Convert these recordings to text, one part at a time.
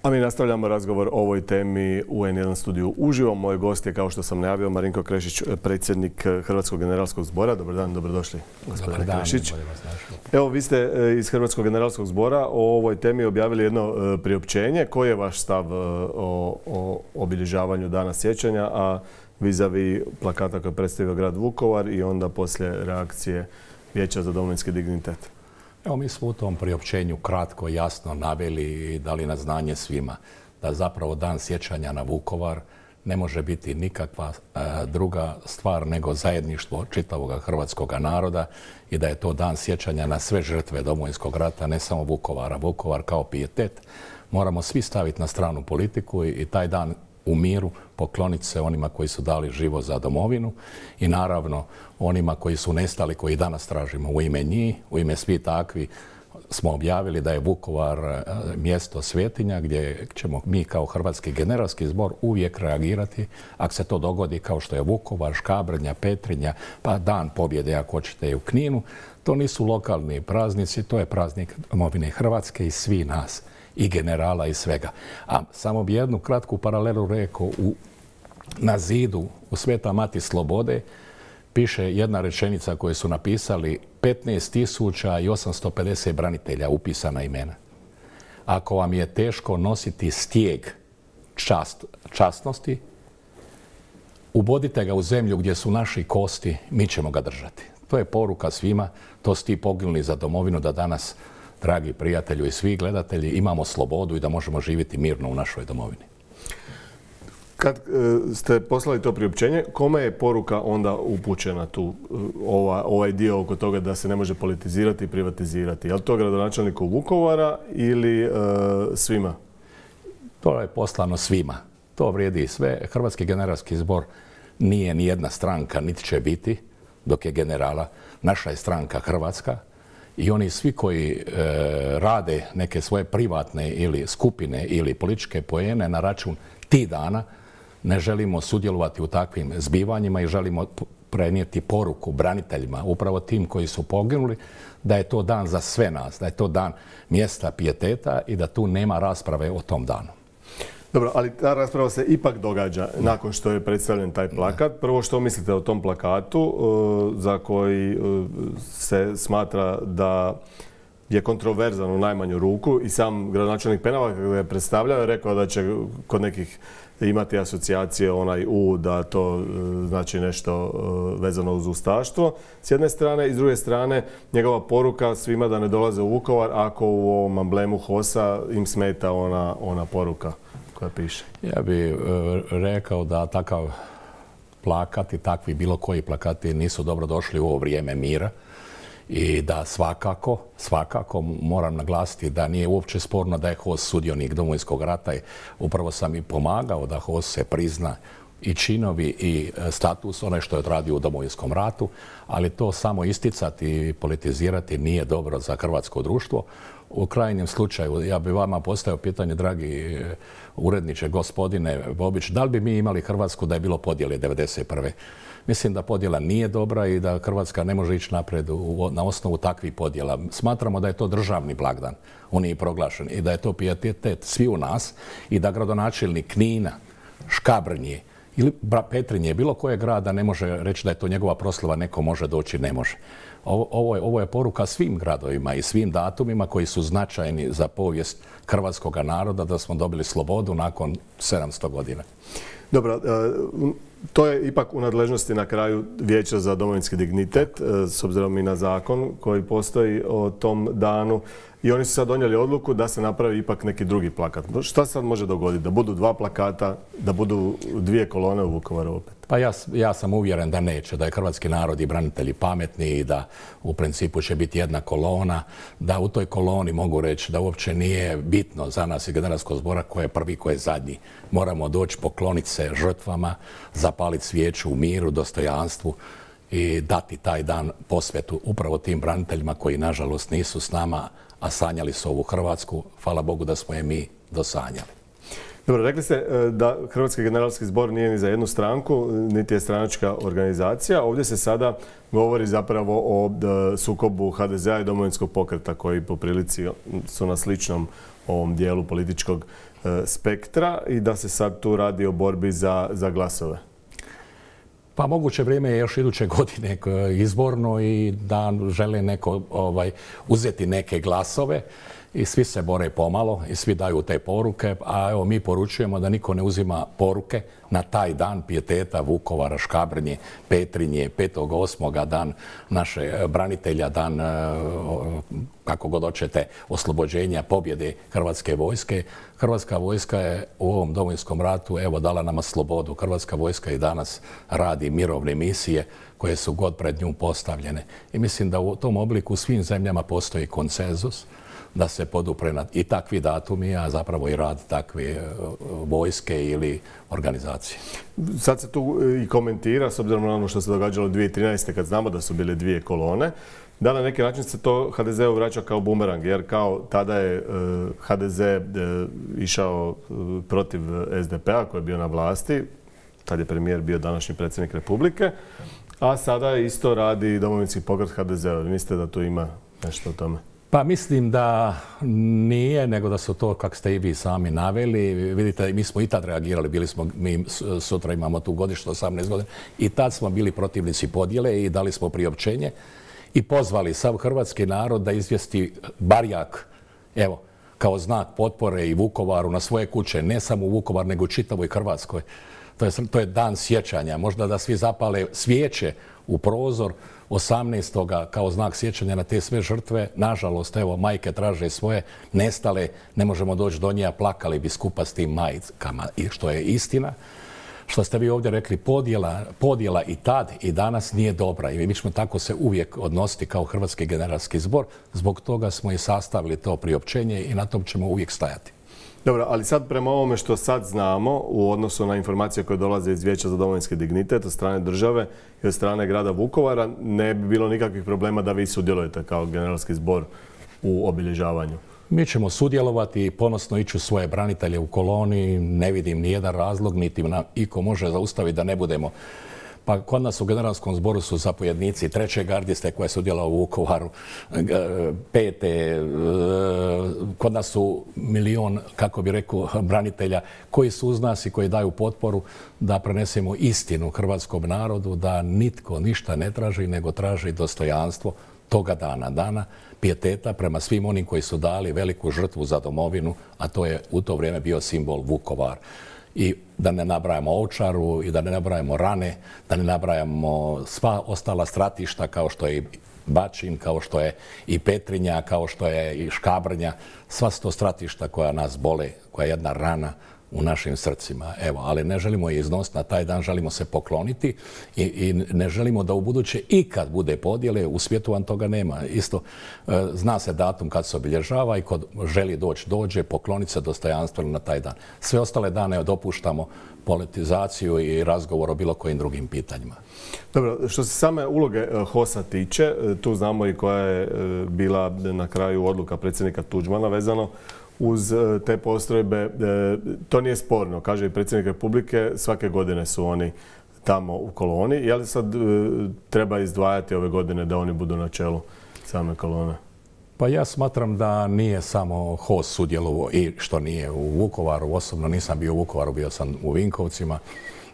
A mi nastavljamo razgovor o ovoj temi u N1 studiju uživo. Moj gost je, kao što sam najavio, Marinko Krešić, predsjednik Hrvatskog generalskog zbora. Dobar dan, dobrodošli, gospodine Krešić. Evo, vi ste iz Hrvatskog generalskog zbora o ovoj temi objavili jedno priopćenje. Koji je vaš stav o obilježavanju Dana sjećanja, a vis-a-vis plakata koje je predstavio grad Vukovar i onda poslije reakcije Vijeća za domovinski dignitet? Evo, mi smo u tom priopćenju kratko i jasno naveli i dali na znanje svima da zapravo Dan sjećanja na Vukovar ne može biti nikakva druga stvar nego zajedništvo čitavog hrvatskog naroda i da je to Dan sjećanja na sve žrtve Domovinskog rata, ne samo Vukovara. Vukovar kao pijetet moramo svi staviti na stranu politiku i taj dan u miru pokloniti se onima koji su dali život za domovinu i naravno onima koji su nestali, koji danas tražimo. U ime njih, u ime svi takvi smo objavili da je Vukovar mjesto svetinja gdje ćemo mi kao Hrvatski generalski zbor uvijek reagirati ako se to dogodi, kao što je Vukovar, Škabrnja, Petrinja, pa Dan pobjede ako hoćete i u Kninu. To nisu lokalni praznici, to je praznik domovine Hrvatske i svi nas, i generala i svega. A samo bi jednu kratku paralelu rekao, na zidu u Sveta Mati Slobode piše jedna rečenica koju su napisali 15.850 branitelja, upisana imena. Ako vam je teško nositi stijeg časnosti, ubodite ga u zemlju gdje su naši kosti, mi ćemo ga držati. To je poruka svima, to su ti poginuli za domovinu, da danas, dragi prijatelju i svi gledatelji, imamo slobodu i da možemo živjeti mirno u našoj domovini. Kad ste poslali to priopćenje, kome je poruka onda upućena tu, ovaj dio oko toga da se ne može politizirati i privatizirati? Je li to gradonačelniku Vukovara ili svima? To je poslano svima. To vrijedi i sve. Hrvatski generalski zbor nije ni jedna stranka, niti će biti dok je generala. Naša je stranka Hrvatska. I oni svi koji rade neke svoje privatne ili skupine ili političke poene na račun tih dana, ne želimo sudjelovati u takvim zbivanjima i želimo prenijeti poruku braniteljima, upravo tim koji su poginuli, da je to dan za sve nas, da je to dan mjesta pijeteta i da tu nema rasprave o tom danu. Dobro, ali ta rasprava se ipak događa nakon što je predstavljen taj plakat. Prvo, što mislite o tom plakatu za koji se smatra da je kontroverzan u najmanju ruku i sam gradonačelnik Penava kada ga je predstavljao je rekao da će kod nekih imati asocijacije da to znači nešto vezano uz ustaštvo s jedne strane i s druge strane njegova poruka svima da ne dolaze u Vukovar ako u ovom amblemu HOS-a im smeta ona poruka koja piše. Ja bih rekao da takav plakat i takvi bilo koji plakati nisu dobro došli u ovo vrijeme mira i da svakako moram naglasiti da nije uopće sporno da je HOS sudionik Domovinskog rata i upravo sam i pomagao da HOS se prizna i činovi i status onaj što je odradio u Domovinskom ratu, ali to samo isticati i politizirati nije dobro za hrvatsko društvo. U krajnjem slučaju, ja bih vama postavio pitanje, dragi uredniče, gospodine Bobić, da li bi mi imali Hrvatsku da je bilo podjele 1991. Mislim da podjela nije dobra i da Hrvatska ne može ići naprijed na osnovu takvih podjela. Smatramo da je to državni blagdan, on je i proglašen, i da je to pijetet svi u nas i da gradonačelnik Knina, Škabrnje ili Petrinje, bilo koje grada ne može reći da je to njegova proslava, neko može doći, ne može. Ovo je poruka svim gradovima i svim datumima koji su značajni za povijest hrvatskog naroda, da smo dobili slobodu nakon 700 godina. Dobro, to je ipak u nadležnosti na kraju Vijeća za domovinski dignitet, s obzirom i na zakon koji postoji o tom danu. I oni su sad donijeli odluku da se napravi ipak neki drugi plakat. Šta sad može dogoditi? Da budu dva plakata, da budu dvije kolone u Vukovaru opet? Pa ja sam uvjeren da neće, da je hrvatski narod i branitelji pametni i da u principu će biti jedna kolona, da u toj koloni mogu reći da uopće nije bitno za nas i generalskog zbora ko je prvi, ko je zadnji. Moramo doći pokloniti se žrtvama, zapaliti svijeću u miru, dostojanstvu i dati taj dan posvetu upravo tim braniteljima koji nažalost nisu s nama, a sanjali su ovu Hrvatsku. Hvala Bogu da smo je mi dosanjali. Dobro, rekli ste da Hrvatski generalski zbor nije ni za jednu stranku, niti je stranačka organizacija. Ovdje se sada govori zapravo o sukobu HDZ-a i Domovinskog pokreta koji po prilici su na sličnom ovom dijelu političkog spektra i da se sad tu radi o borbi za glasove. Pa moguće vrijeme je još iduće godine izborno i da žele neko uzeti neke glasove i svi se bore pomalo i svi daju te poruke, a evo mi poručujemo da niko ne uzima poruke na taj dan pijeteta Vukovara, Škabrnje, Petrinje, 5.8. dan naše branitelja, dan kako god hoćete oslobođenja, pobjede Hrvatske vojske. Hrvatska vojska je u ovom Domovinskom ratu evo dala nama slobodu. Hrvatska vojska i danas radi mirovne misije koje su god pred nju postavljene. I mislim da u tom obliku u svim zemljama postoji konsenzus da se podupre i takvi datumi, a zapravo i rad takve vojske ili organizacije. Sad se tu i komentira, s obzirom na ono što se događalo 2013. kad znamo da su bile dvije kolone, da na neki način se to HDZ-u vraća kao bumerang, jer kao tada je HDZ išao protiv SDP-a koji je bio na vlasti, tad je premijer bio današnji predsjednik Republike, a sada isto radi Domovinski pokret HDZ-a. Mislite da tu ima nešto o tome? Pa mislim da nije, nego da su to, kako ste i vi sami naveli. Vidite, mi smo i tad reagirali, mi sutra imamo tu godišnju 18 godina, i tad smo bili protivnici podjele i dali smo priopćenje i pozvali sav hrvatski narod da izvijesti barjak, evo, kao znak potpore i Vukovaru na svoje kuće, ne samo u Vukovar, nego u čitavoj Hrvatskoj. To je dan sjećanja, možda da svi zapale svijeće u prozor 18. kao znak sjećanja na te sve žrtve. Nažalost, evo, majke traže svoje, nestale, ne možemo doći do nje, plakali bi skupa s tim majkama. I što je istina, što ste vi ovdje rekli, podjela i tad i danas nije dobra. I mi ćemo tako se uvijek odnositi kao Hrvatski generalski zbor. Zbog toga smo i sastavili to priopćenje i na tom ćemo uvijek stajati. Dobro, ali sad prema ovome što sad znamo u odnosu na informacije koje dolaze iz Vijeća za domovinski dignitet od strane države i od strane grada Vukovara, ne bi bilo nikakvih problema da vi sudjelujete kao generalski zbor u obilježavanju. Mi ćemo sudjelovati i ponosno ići u svoje branitelje u koloni. Ne vidim ni jedan razlog, niti nam iko može zaustaviti da ne budemo. Pa kod nas u generalskom zboru su zapovjednici 3. gardiste koja je sudjelovala u Vukovaru, 5. Kod nas su milion, kako bi rekao, branitelja koji su uz nas i koji daju potporu da prenesemo istinu hrvatskom narodu, da nitko ništa ne traži, nego traži dostojanstvo toga dana pijeteta prema svim onim koji su dali veliku žrtvu za domovinu, a to je u to vrijeme bio simbol Vukovar. I da ne nabrajamo Ovčaru i da ne nabrajamo Rane, da ne nabrajamo sva ostala stratišta kao što je i Bačin, kao što je i Petrinja, kao što je i Škabrnja. Sva su to stratišta koja nas bole, koja je jedna rana u našim srcima. Evo, ali ne želimo je iznositi na taj dan, želimo se pokloniti i ne želimo da u buduće ikad bude podjele, u svijetu vam toga nema. Isto zna se datum kad se obilježava i kod želi dođe, pokloniti se dostojanstveno na taj dan. Sve ostale dane dopuštamo politizaciju i razgovor o bilo kojim drugim pitanjima. Dobro, što se same uloge HOS-a tiče, tu znamo i koja je bila na kraju odluka predsjednika Tuđmana vezano uz te postrojbe. To nije sporno, kaže i predsjednik Republike, svake godine su oni tamo u koloni. Je li sad treba izdvajati ove godine da oni budu na čelu same kolone? Pa ja smatram da nije samo HOS sudjelovao i što nije u Vukovaru. Osobno nisam bio u Vukovaru, bio sam u Vinkovcima.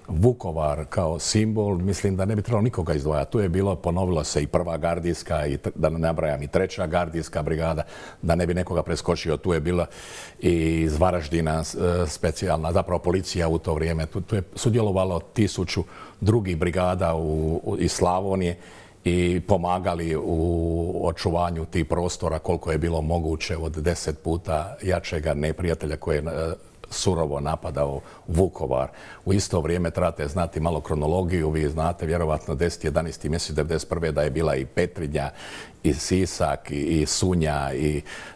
Vukovar kao simbol, mislim da ne bi trebalo nikoga izdvajati. Tu je bilo, ponovilo se i 1. gardijska, i da ne nabrajam i 3. gardijska brigada, da ne bi nekoga preskočio. Tu je bila i iz Varaždina specijalna, zapravo policija u to vrijeme. Tu je sudjelovalo 1000 drugih brigada iz Slavonije i pomagali u očuvanju tih prostora koliko je bilo moguće od 10 puta jačega neprijatelja koje je surovo napadao Vukovar. U isto vrijeme trebate znati malo kronologiju. Vi znate vjerovatno 10. 11. mjesec 1991. da je bila i Petrinja, i Sisak, i Sunja,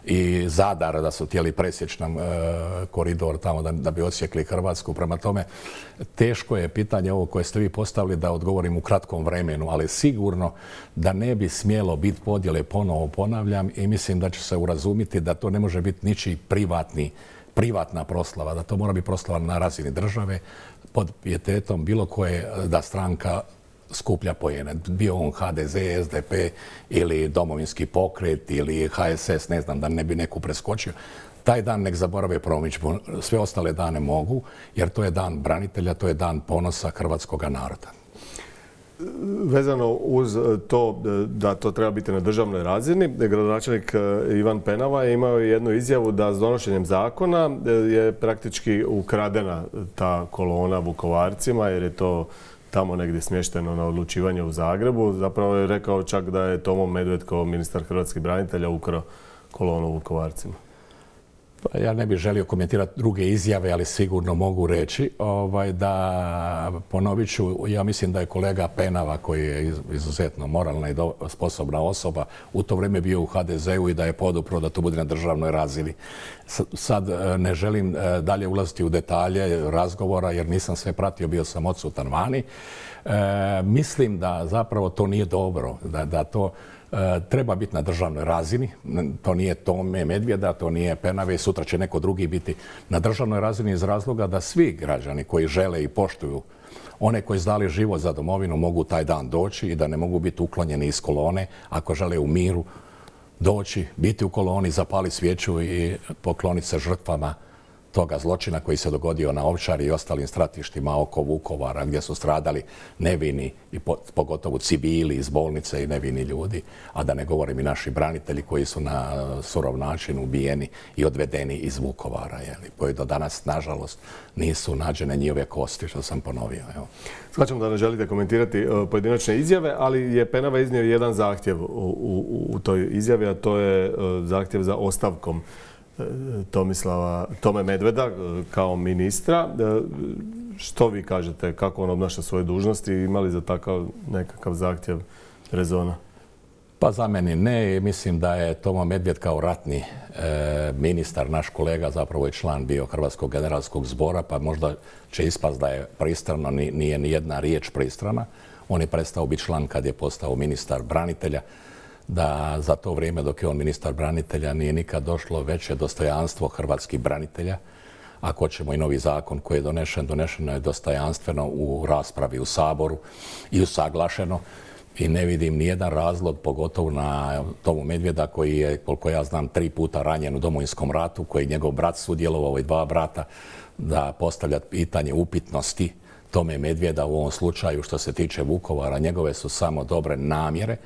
i Zadar, da su htjeli presjeći nam koridor tamo da bi odsjekli Hrvatsku. Prema tome, teško je pitanje ovo koje ste vi postavili da odgovorim u kratkom vremenu, ali sigurno da ne bi smjelo biti podjele, ponovo ponavljam, i mislim da će se urazumiti da to ne može biti ničiji privatni privatna proslava, da to mora biti proslava na razini države pod pijetetom bilo koje da stranka skuplja poene. Bio on HDZ, SDP ili Domovinski pokret ili HSS, ne znam, da ne bi neku preskočio. Taj dan nek zaborave promidžbu, sve ostale dane mogu, jer to je dan branitelja, to je dan ponosa hrvatskog naroda. Vezano uz to da to treba biti na državnoj razini, gradonačelnik Ivan Penava je imao jednu izjavu da s donošenjem zakona je praktički ukradena ta kolona Vukovarcima, jer je to tamo negdje smješteno na odlučivanje u Zagrebu. Zapravo je rekao čak da je Tomo Medved kao ministar hrvatskih branitelja ukrao kolonu Vukovarcima. Pa ja ne bih želio komentirati druge izjave, ali sigurno mogu reći da, ponovit ću, ja mislim da je kolega Penava, koji je izuzetno moralna i sposobna osoba, u to vrijeme bio u HDZ-u i da je podupro da to bude na državnoj razini. Sad ne želim dalje ulaziti u detalje razgovora, jer nisam sve pratio, bio sam odsutan vani. Mislim da zapravo to nije dobro, da to treba biti na državnoj razini. To nije Tome Medvjeda, to nije Penave i sutra će neko drugi biti na državnoj razini iz razloga da svi građani koji žele i poštuju one koji su dali život za domovinu mogu taj dan doći i da ne mogu biti uklonjeni iz kolone ako žele u miru doći, biti u koloni, zapaliti svijeću i pokloniti se žrtvama toga zločina koji se dogodio na Ovčari i ostalim stratištima oko Vukovara, gdje su stradali nevini i pogotovo civili iz bolnice i nevini ljudi, a da ne govorim i naši branitelji koji su na surov način ubijeni i odvedeni iz Vukovara, koji do danas, nažalost, nisu nađene njihove kosti, što sam ponovio. Shvaćam da ne želite komentirati pojedinačne izjave, ali je Penava iznio jedan zahtjev u toj izjavi, a to je zahtjev za ostavkom Tome Medveda kao ministra. Što vi kažete, kako on obnaša svoje dužnosti i ima li za takav nekakav zahtjev rezona? Pa za meni ne. Mislim da je Tomo Medved kao ratni ministar, naš kolega, zapravo je član bio Hrvatskog generalskog zbora, pa možda će ispast da je pristrano, nije ni jedna riječ pristrana. On je prestao biti član kad je postao ministar branitelja. Da za to vrijeme dok je on ministar branitelja nije nikad došlo veće dostojanstvo hrvatskih branitelja. Ako hoćemo i novi zakon koji je donešeno je dostojanstveno u raspravi u Saboru i usaglašeno. I ne vidim nijedan razlog, pogotovo na Tomu Medvjeda koji je, koliko ja znam, 3 puta ranjen u Domovinskom ratu, koji je njegov brat sudjelovao i 2 brata, da postavlja pitanje upitnosti Tome Medvjeda u ovom slučaju što se tiče Vukovara. Njegove su samo dobre namjere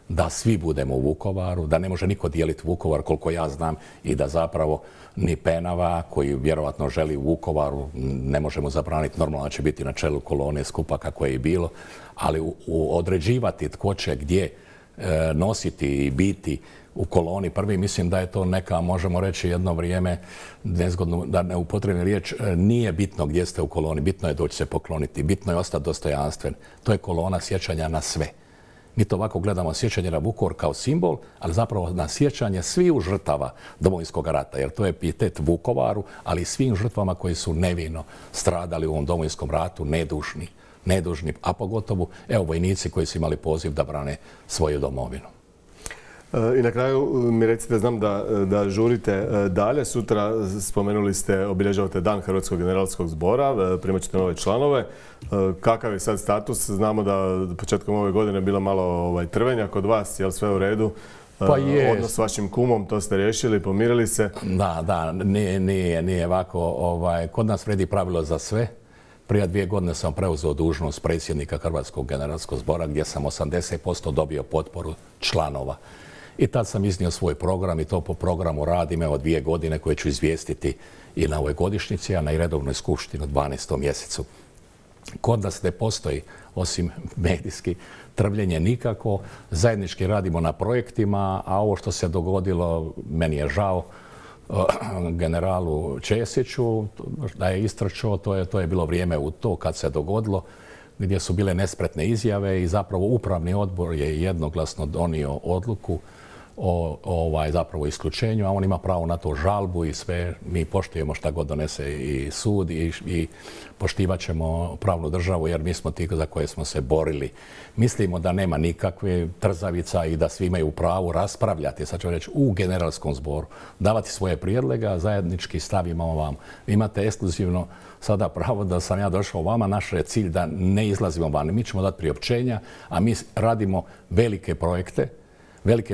da svi budemo u Vukovaru, da ne može niko dijeliti Vukovar koliko ja znam i da zapravo ni Penava koji vjerovatno želi u Vukovaru, ne možemo zabraniti, normalno da će biti na čelu kolone skupa kako je i bilo, ali određivati tko će gdje nositi i biti u koloni prvi, mislim da je to neka, možemo reći jedno vrijeme, nezgodno da ne upotrebim riječ, nije bitno gdje ste u koloni, bitno je doći se pokloniti, bitno je ostati dostojanstven. To je kolona sjećanja na sve. Mi to ovako gledamo sjećanje na Vukovar kao simbol, ali zapravo na sjećanje sviju žrtava Domovinskog rata, jer to je pijetet Vukovaru, ali i svim žrtvama koji su nevino stradali u ovom Domovinskom ratu, nedužni, a pogotovo vojnici koji su imali poziv da brane svoju domovinu. I na kraju mi recite, znam da žurite dalje. Sutra, spomenuli ste, obilježavate Dan Hrvatskog generalskog zbora, primat ćete nove članove. Kakav je sad status? Znamo da početkom ove godine je bila malo trvenja kod vas, je li sve u redu? Pa je. Odnos s vašim kumom, to ste riješili, pomirili se? Da, nije ovako. Kod nas vredi pravilo za sve. Prije 2 godine sam preuzeo dužnost predsjednika Hrvatskog generalskog zbora gdje sam 80% dobio potporu članova. I tad sam iznio svoj program i to po programu radim 2 godine koje ću izvijestiti i na ovoj godišnjici, a na i redovnoj skupštini u 12. mjesecu. Kod nas ne postoji, osim medijski, trvljenje nikako. Zajednički radimo na projektima, a ovo što se dogodilo, meni je žao, generalu Česiću da je istrčao, to je bilo vrijeme u to kad se dogodilo, gdje su bile nespretne izjave i zapravo upravni odbor je jednoglasno donio odluku o zapravo isključenju, a on ima pravo na to žalbu i sve. Mi poštujemo šta god donese i sud i poštivat ćemo pravnu državu jer mi smo ti za koje smo se borili. Mislimo da nema nikakve trzavica i da svi imaju pravo raspravljati, sad ću reći, u generalskom zboru, davati svoje prijedloge, a zajednički stav imamo vam. Vi imate ekskluzivno sada pravo da sam ja došao vama, naš je cilj da ne izlazimo van. Mi ćemo dati priopćenja, a mi radimo velike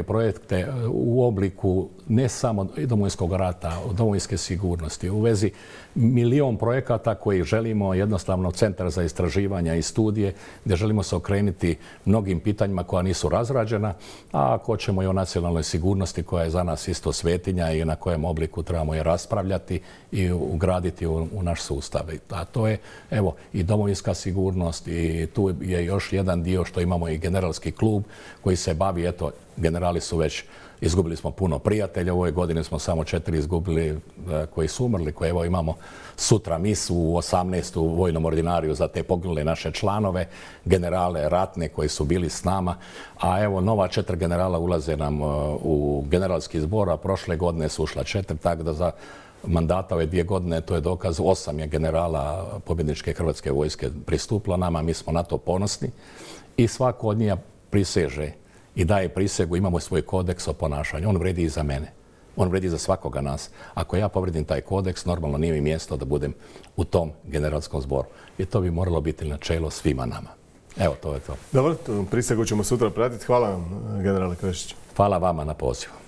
projekte u obliku ne samo Domovinskog rata, domovinske sigurnosti, u vezi milion projekata koji želimo jednostavno centar za istraživanja i studije, gdje želimo se okrenuti mnogim pitanjima koja nisu razrađena, a ako ćemo i o nacionalnoj sigurnosti koja je za nas isto svetinja i na kojem obliku trebamo je raspravljati i ugraditi u naš sustav. A to je, evo, i domovinska sigurnost i tu je još jedan dio što imamo i generalski klub koji se bavi, eto, generali su već, izgubili smo puno prijatelja, u ovoj godini smo samo 4 izgubili koji su umrli, koje evo imamo sutra misu u 18. vojnom ordinariju za te poginule naše članove, generale ratne koji su bili s nama, a evo nova 4 generala ulaze nam u generalski zbor, a prošle godine su ušla 4, tako da za mandata ove 2 godine, to je dokaz, 8 je generala pobjedničke Hrvatske vojske pristupilo nama, mi smo na to ponosni i svako od njih priseže i daje prisegu, imamo svoj kodeks o ponašanju. On vredi i za mene. On vredi za svakoga nas. Ako ja povredim taj kodeks, normalno nije mi mjesto da budem u tom generalskom zboru. I to bi moralo biti načelo svima nama. Evo, to je to. Dobro, prisegu ćemo sutra pratiti. Hvala vam, generale Krešić. Hvala vama na pozivu.